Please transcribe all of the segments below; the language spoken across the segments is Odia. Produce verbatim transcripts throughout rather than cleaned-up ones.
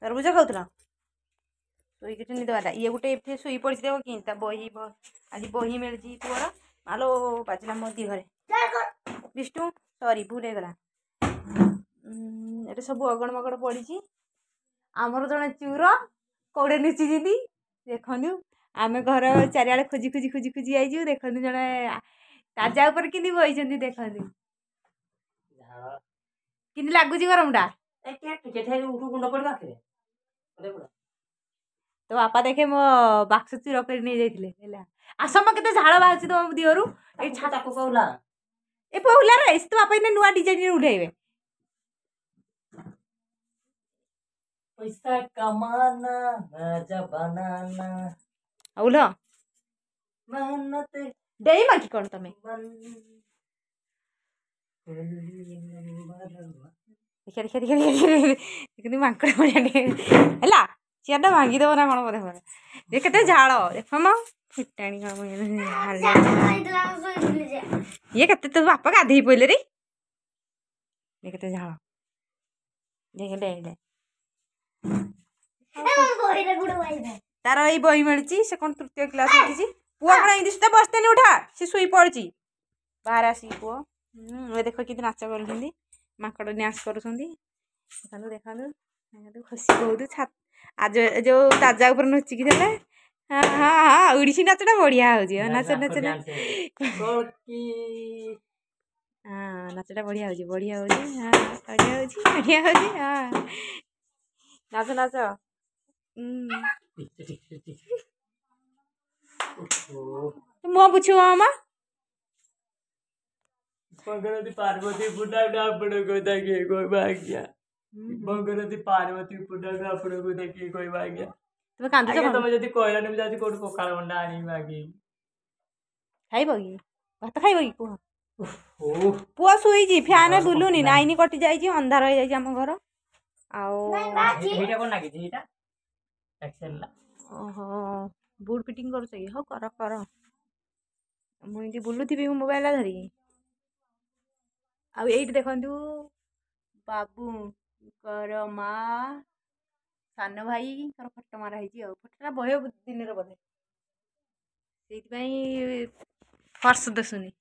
ତରଭୁଜ ଖାଉଥିଲ ଶୋଇକି ନିଦ ବାଲା ଇଏ ଗୋଟେ ଏଠି ଶୋଇ ପଡ଼ିଛି ଦେଖ କେମିତି ତା ବହି ଆଜି ବହି ମିଳିଛି ପୁଅର ମାଲୋ ବାଜିଲା ମୋ ଦିହରେ ବିଷ୍ଣୁ ସରି ଭୁଲ ହେଇଗଲା ଏଠି ସବୁ ଅଗଣ ମଗଣ ପଡ଼ିଛି ଆମର ଜଣେ ଚୁର କୋଉଠି ଲୁଚିଛନ୍ତି ଦେଖନ୍ତୁ ଆମେ ଘର ଚାରିଆଡ଼େ ଖୋଜି ଖୋଜି ଖୋଜି ଖୋଜି ଯାଇଛୁ ଦେଖନ୍ତୁ ଜଣେ ତାଜା ଉପରେ କେମିତି ବଇଛନ୍ତି ଦେଖନ୍ତୁ କେମିତି ଲାଗୁଛି ଗରମଟା ତୋ ବାପା ଦେଖେ ମୋ ବାକ୍ସ ଚୁର କରି ନେଇଯାଇଥିଲେ ହେଲା ଆସମ କେତେ ଝାଳ ବାହାରୁଛି ତମ ଦିହରୁ ଏଇ ତାକୁ କହୁଲା ଏ ପହୁଲା ରେ ତୋ ବାପା ଏଇନା ନୂଆ ଡିଜାଇନରେ ଉଠେଇବେ पैसा कमाना राजा बनाना ଆଉ ଲ मेहनत ଡେଇଁବ କି କ'ଣ ତମେ ଦେଖିଆ ଦେଖିଆ ଦେଖିଆ ଦେଖିଆ ଦେଖନ୍ତୁ ମାଙ୍କଡ଼ ଭଳିଆ ଟିକେ ହେଲା ଚେୟାରଟା ଭାଙ୍ଗିଦେବ ନା କ'ଣ ବୋଧେ ଏ କେତେ ଝାଳ ଦେଖ ମ ଫିଟାଣି କ'ଣ ଇଏ କେତେ ତୋ ବାପା ଗାଧେଇ ପଇଲେ ରେ ଏ କେତେ ଝାଳ ଦେଖ ଡେଇଁଲେ ତାର ଏଇ ବହି ମିଳିଛି ସେ କ'ଣ ତୃତୀୟ କ୍ଲାସ୍ ଉଠିଛି ପୁଅ କ'ଣ ଏମିତି ସୁଦ୍ଧା ବସ୍ତାନି ଉଠା ସେ ଶୋଇ ପଡ଼ିଛି ବାହାରେ ଆସିକି ପୁଅ ଏ ଦେଖ କେମିତି ନାଚ କରୁଛନ୍ତି ମାଙ୍କଡ଼ ଡ୍ୟାନ୍ସ କରୁଛନ୍ତି ଦେଖନ୍ତୁ ଦେଖନ୍ତୁ ଦେଖନ୍ତୁ ଖୁସି ବହୁତ ଛା ଆଜ ଯୋଉ ତାଜା ଉପରେ ନୁଚିକି ଥିଲେ ହଁ ହଁ ହଁ ଓଡ଼ିଶୀ ନାଚଟା ବଢ଼ିଆ ହଉଛି ନାଚ ନାଚ ହଁ ନାଚଟା ବଢ଼ିଆ ହଉଛି ବଢ଼ିଆ ହଉଛି ହଁ ବଢ଼ିଆ ହଉଛି ବଢ଼ିଆ ହଉଛି ହଁ ନାଚ ନାଚ ମୁହଁ ପୁଛିବ ମାମା भगवती पार्वती ଆପଣଙ୍କୁ ଦେଖିକି କହିବ ଆଜ୍ଞା ଭଗବତୀ ପାର୍ବତୀ ଆପଣଙ୍କୁ ଦେଖିକି କହିବ ଆଜ୍ଞା ତମେ କାନ୍ଦୁଛ ଆଜ୍ଞା ତମେ ଯଦି କହିଲନି ମୁଁ ଯାଉଛି କୋଉଠୁ ପଖାଳ ମଣ୍ଡା ଆଣିବି ମାଗିକି ଖାଇବ କି ଭାତ ଖାଇବ କି କୁହ ଓ ପୁଅ ଶୋଇଛି ଫ୍ୟାନ୍ ବୁଲୁନି ଲାଇନ୍ କଟି ଯାଇଛି ଅନ୍ଧାର ହେଇଯାଇଛି ଆମ ଘର ଆଉ ଏଇଟା କଣ ଲାଗିଛି ଏଇଟା ଏକ୍ସେଲ ଓହୋ ବୁଟ୍ ଫିଟିଂ କରୁଛ କି ହଉ କର କର ମୁଁ ଏମିତି ବୁଲୁଥିବି ମୁଁ ମୋବାଇଲଟା ଧରିକି ଆଉ ଏଇଠି ଦେଖନ୍ତୁ ବାବୁଙ୍କର ମା ସାନ ଭାଇଙ୍କର ଫଟୋ ମାରା ହେଇଛି ଆଉ ଫଟୋଟା ବହେ ଦିନର ବୋଧେ ସେଇଥିପାଇଁ ଫର୍ସ ଦିଶୁନି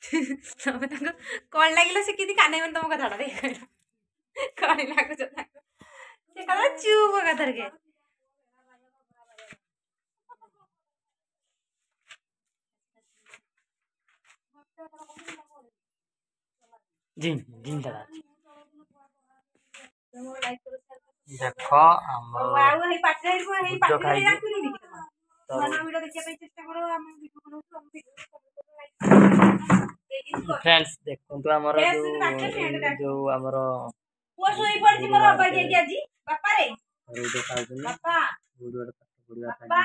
ତମେ ତାଙ୍କୁ କ'ଣ ଲାଗିଲା ସେ କେମିତି କାନେଇବନି ତମ କଥାଟା ଦେଖ କ'ଣ ଲାଗୁଛ ତାଙ୍କୁ ସେ କଥା ଚୁପ୍ କଥାରେ ଜିନ୍ ଜିନ୍ ଦାଦା ଦେଖ ଆମର ଆଉ ହେଇ ପାଟିରେ ହେଇ ଭୁଜ ପାଟିରେ ଖାଇକି ଡାକୁନି କି ତମ ନୂଆ ନୂଆ ଭିଡ଼ିଓ ଦେଖିବା ପାଇଁ ଚେଷ୍ଟା କର ଆମେ ଭିଡ଼ିଓ ବନଉଛୁ ଆମ ଭିଡ଼ିଓ ଫ୍ରେଣ୍ଡସ୍ ଦେଖନ୍ତୁ ଆମର ଫ୍ରେଣ୍ଡସ୍ ଯୋଉ ଡାକେ, ଫ୍ରେଣ୍ଡ ଡାକେ। ଯୋଉ ଆମର ପୁଅ ଶୋଇ ପଡ଼ିଛି ମୋର ଅବାଗିଆ କି ଆଜି ବାପାରେ ରୁଡ ଖାଉଛନ୍ତି ବାପା ଗୁରୁବାର ପାଠ ପଢିବା ବାପା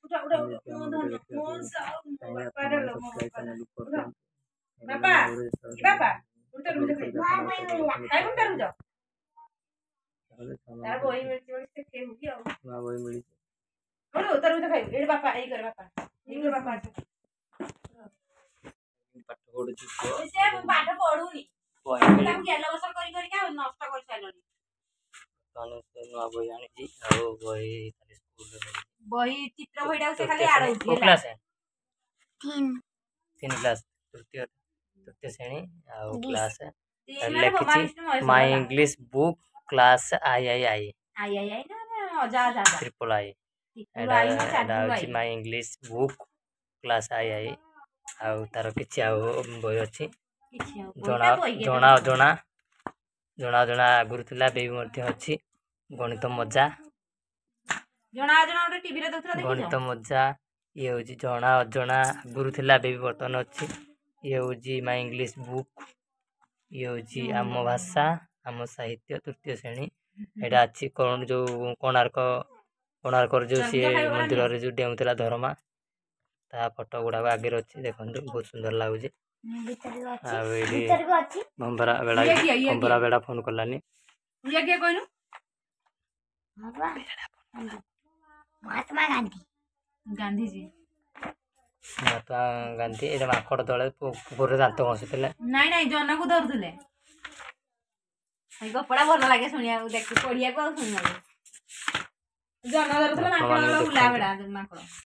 ଉଠ ଉଠ ଉଠ ଏମିତି ମୋ ଆମ ଧନ ଭିଡ଼ିଓ ମୋ ଦେଖିବାକୁ ମୋ ଚାହିଁଲେ ବାପା ଆପଣମାନେ ଲୋ ମୋ ସବସ୍କ୍ରାଇବ୍ ବାପା ଚ୍ୟାନେଲକୁ ଉଠ କରିଦିଅନ୍ତୁ ବାପା ଏ ବାପା ଉଠ ତରଭୁଜ ଖାଇବୁ ଖାଇବୁ ତରଭୁଜ ତାହେଲେ ତାର ବହି ମିଳିଛି ବୋଲି ସେ ଖେଳୁଛି ଆଉ ନୂଆ ବହି ମିଳିଛି ଉଠୁ ତରଭୁଜ ଖାଇବୁ ଏଇଠି ବାପା ଏଇ କରେ ବାପା ଏଇ କରେ ବାପା ପାଠ ପଢୁଛି ପୁଅ ସେ ମୁଁ ପାଠ ପଢୁନି ବହି ମିଳିଛି ତାକୁ ଗେଲ ବସର କରି କରିକା ନଷ୍ଟ କରିସାରିଲଣି ବର୍ତ୍ତମାନ ସେ ନୂଆ ବହି ଆଣିଛି ଆଉ ବହି ଖାଲି ସ୍କୁଲରେ ମିଳିଛି ବହି ଚିତ୍ର ବହିଟାକୁ ସେ ଖାଲି ତୃତୀୟ ଶ୍ରେଣୀ ଆଡ଼ଉଛି କୋଉ ହେଲା କ୍ଲାସ୍ ତିନି ତିନି କ୍ଲାସ୍ ତୃତୀୟ ତୃତୀୟ ଶ୍ରେଣୀ ଆଉ କ୍ଲାସ୍ ତିନି ମାନେ ଲେଖିଛି ବ୍ରହ୍ମା ବିଷ୍ଣୁ ମହେଶ୍ୱର ମାଇ ହେଲା। English book class I I I I I I ନା ନା ଅଜା ଅଜା ଅଜା ଟ୍ରିପଲ୍ I ତ୍ରିପୁଲ ଏଇଟା I ନା ଏଇଟା ଚାରିପୁଲ ହେଉଛି I my English book class I I ଆଉ ତାର କିଛି ଆଉ ବହି ଅଛି କିଛି ଆଉ ଜଣା ବହିଟା ବହି ଜଣା ଅଜଣା ଜଣା ଅଜଣା ଆଗରୁ ଥିଲା ଏବେ ବି ମଧ୍ୟ ଅଛି ଗଣିତ ମଜା ଜଣା ଅଜଣା ଗୋଟେ ଟିଭିରେ ଦଉଥିଲା ଦେଖିଛ ଗଣିତ ମଜା ଇଏ ହେଉଛି ଜଣା ଅଜଣା ଆଗରୁ ଥିଲା ଏବେ ବି ବର୍ତ୍ତମାନ ଅଛି ଇଏ ହେଉଛି ମାଇ ଇଂଲିଶ ବୁକ୍ ଇଏ ହେଉଛି ଆମ ଭାଷା ଆମ ସାହିତ୍ୟ ତୃତୀୟ ଶ୍ରେଣୀ ଏଇଟା ଅଛି କ'ଣ ଯୋଉ କୋଣାର୍କ କୋଣାର୍କର ଯୋଉ ସିଏ ତରଭୁଜ ଖାଇବ ନା ମନ୍ଦିରରେ ଯୋଉ ଡେଉଁଥିଲା ଧରମା ତା ଫଟୋ ଗୁଡ଼ାକ ଆଗରେ ଅଛି ଦେଖନ୍ତୁ ବହୁତ ସୁନ୍ଦର ଲାଗୁଛି ଭିତରକୁ ଅଛି ଆଉ ଏଇଠି ଭିତରକୁ ଅଛି ଭମ୍ବରା ବେଳା ଇଏ କିଏ ଇଏ ଭମ୍ବରା କିଏ ବେଡ଼ା ଫୋନ୍ କଲାନି ଇଏ କିଏ କହିଲୁ ବାବା ମହାତ୍ମା ଗାନ୍ଧୀ ଗାନ୍ଧିଜୀ ମହାତ୍ମା ଗାନ୍ଧୀ। ଏଇଟା ମାଙ୍କଡ଼ ତଳେ କୁକୁରରେ ଦାନ୍ତ ଘଷୁଥିଲେ। ନାଇଁ ନାଇଁ, ଜହ୍ନକୁ ଧରୁଥିଲେ। ଏଇ ଗପଟା ଭଲ ଲାଗେ ଶୁଣିବାକୁ, ଦେଖି ପଢିବାକୁ ଆଉ ଶୁଣିବାକୁ। ଜହ୍ନ ଧରୁଥିଲେ ମାଙ୍କଡ଼। ଆପଣମାନେ ବୁଲା ଦେଖନ୍ତୁ। ବେଡ଼ା ମାଙ୍କଡ଼।